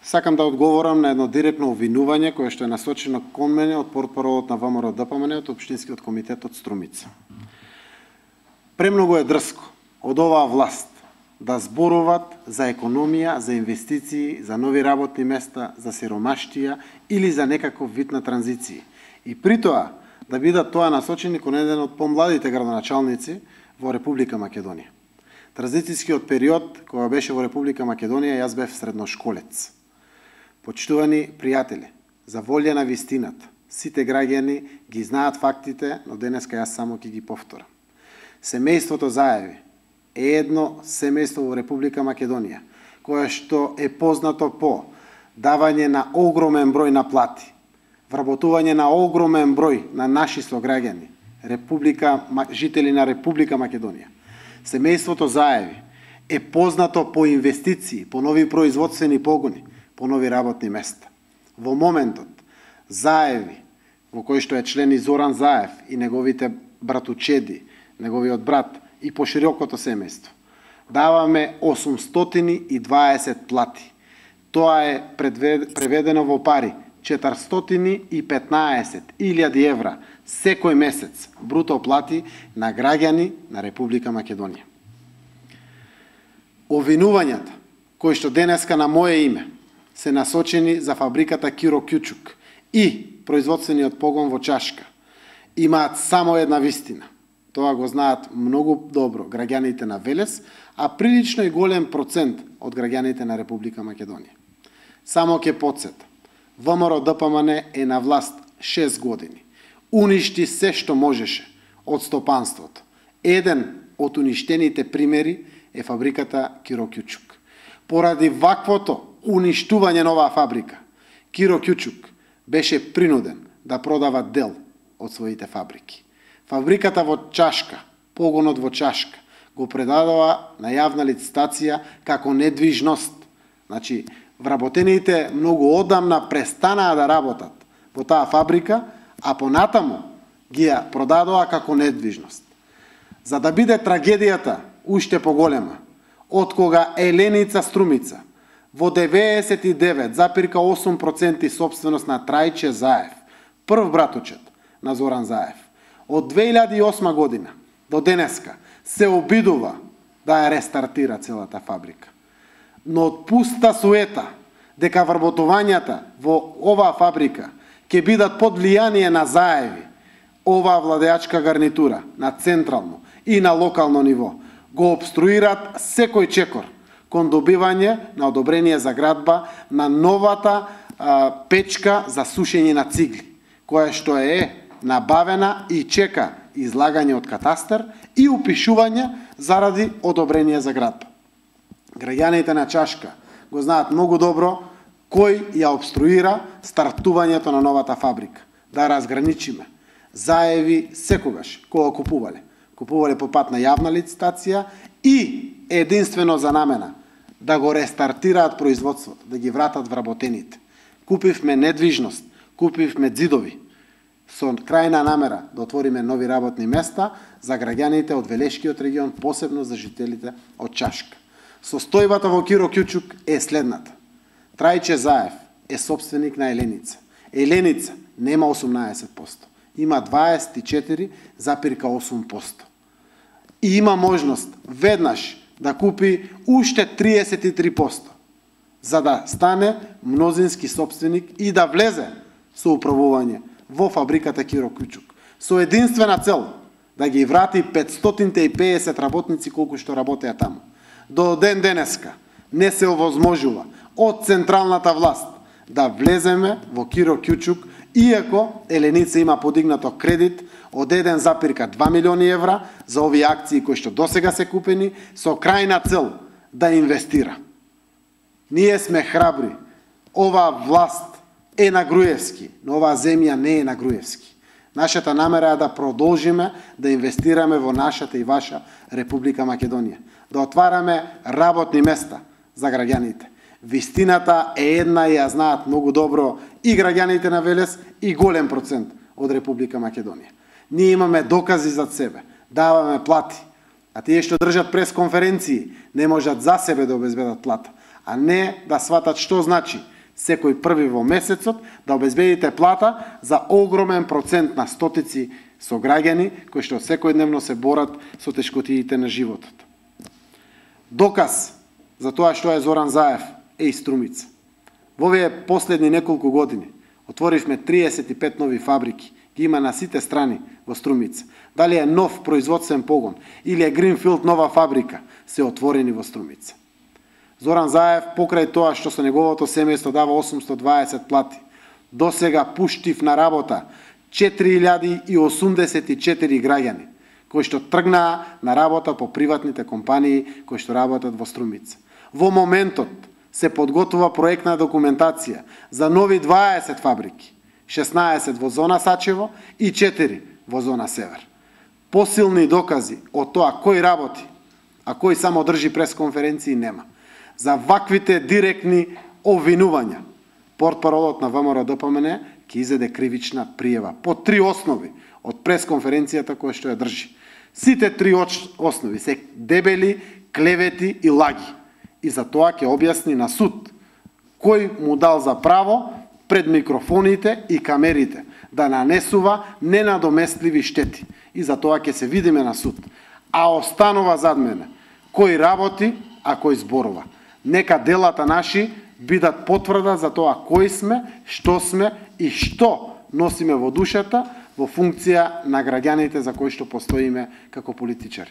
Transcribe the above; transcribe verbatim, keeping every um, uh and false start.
Сакам да одговорам на едно директно обвинување кое што е насочено кон мене од портпаролот на ВМРО-ДПМН од Општинскиот комитет од Струмица. Премногу е дрско од оваа власт да зборуваат за економија, за инвестиции, за нови работни места, за сиромаштија или за некаков вид на транзиција. И при тоа да бидат тоа насочени кон еден од помладите градоначалници во Република Македонија. Транзицијскиот период кога беше во Република Македонија, јас бев средношколец. Почитувани пријатели, за волја на вистината, сите граѓани ги знаат фактите, но денеска јас само ќе ги повторам. Семејството Заеви е едно семејство во Република Македонија, кое што е познато по давање на огромен број на плати, вработување на огромен број на наши сограѓани, Република, жители на Република Македонија. Семејството Заеви е познато по инвестиции, по нови производствени погони, по нови работни места. Во моментот, Заеви, во кој што е член и Зоран Заев и неговите братучеди, неговиот брат и поширокото семејство, даваме осумстотини и дваесет плати. Тоа е преведено во пари четиристотини и петнаесет илјади евра секој месец бруто плати на граѓани на Република Македонија. Обвинувањата кои што денеска на моје име се насочени за фабриката Киро Кјучук и производствениот погон во Чашка имаат само една вистина. Тоа го знаат многу добро граѓаните на Велес, а прилично и голем процент од граѓаните на Република Македонија. Само ќе потсетам, ВМРО-ДПМН е на власт шест години. Уништи се што можеше од стопанството. Еден од уништените примери е фабриката Киро Кјучук. Поради ваквото уништување на оваа фабрика, Киро Кјучук беше принуден да продава дел од своите фабрики. Фабриката во Чашка, погонот во Чашка, го предадува на јавна лицитација како недвижност. Значи, вработените многу одамна престанаа да работат во таа фабрика, а понатаму ги ја продадоа како недвижност. За да биде трагедијата уште поголема, од кога Еленица Струмица во деветдесет и девет запирка осум проценти собственост на Трајче Заев, прв братучет на Зоран Заев, од две илјади и осма година до денеска се обидува да ја рестартира целата фабрика. Но од пуста суета дека вработувањата во оваа фабрика ќе бидат под влијание на Заеви, оваа владеачка гарнитура на централно и на локално ниво го обструират секој чекор кон добивање на одобрение за градба на новата а, печка за сушење на цигли, која што е набавена и чека излагање од катастар и упишување заради одобрение за градба. Граѓаните на Чашка го знаат многу добро кој ја обструира стартувањето на новата фабрика. Да разграничиме. Заеви секогаш кога купувале. Купувале по пат на јавна лицитација и единствено за намена да го рестартираат производството, да ги вратат вработените. Купивме недвижност, купивме ѕидови, со крајна намера да отвориме нови работни места за граѓаните од Велешкиот регион, посебно за жителите од Чашка. Состојбата во Киро Кјучук е следната. Трајче Заев е собственик на Еленица. Еленица нема осумнаесет проценти, има дваесет и четири запирка осум проценти. И има можност веднаш да купи уште триесет и три проценти, за да стане мнозински собственик и да влезе со управување во фабриката Киро Кјучук. Со единствена цел да ги врати петстотин и педесет работници колку што работеа таму. До ден денеска не се овозможува од централната власт да влеземе во Киро Кјучук, иако Еленица има подигнато кредит од еден запирка два милиони евра за овие акции кои што досега се купени со крајна цел да инвестира. Ние сме храбри. Оваа власт е на Груевски, но оваа земја не е на Груевски. Нашата намера е да продолжиме да инвестираме во нашата и ваша Република Македонија, да отвараме работни места за граѓаните. Вистината е една и ја знаат многу добро и граѓаните на Велес и голем процент од Република Македонија. Ние имаме докази зад себе, даваме плати, а тие што држат пресконференции не можат за себе да обезбедат плата, а не да сватат што значи секој први во месецот да обезбедите плата за огромен процент на стотици сограѓани кои што секојдневно се борат со тешкотиите на животот. Доказ за тоа што е Зоран Заев е и Струмица. Во овие последни неколку години отворивме триесет и пет нови фабрики, ги има на сите страни во Струмица. Дали е нов производствен погон или е Гринфилд нова фабрика, се отворени во Струмица. Зоран Заев, покрај тоа што со неговото семејство дава осумстотини и дваесет плати, до сега пуштив на работа четири илјади и осумдесет и четири граѓани, кои што тргнаа на работа по приватните компании кои што работат во Струмица. Во моментот се подготвува проектна документација за нови дваесет фабрики, шеснаесет во зона Сачево и четири во зона Север. Посилни докази од тоа кој работи, а кој само држи пресконференции нема. За ваквите директни обвинувања, портпаролот на ВМРО-ДПМН ќе изеде кривична пријава по три основи од пресконференцијата која што ја држи. Сите три основи се дебели клевети и лаги. И за тоа ќе објасни на суд кој му дал за право пред микрофоните и камерите да нанесува ненадоместливи штети. И за тоа ќе се видиме на суд. А останува зад мене кој работи, а кој зборува. Нека делата наши бидат потврда за тоа кој сме, што сме и што носиме во душата во функција на граѓаните за кои што постоиме како политичари.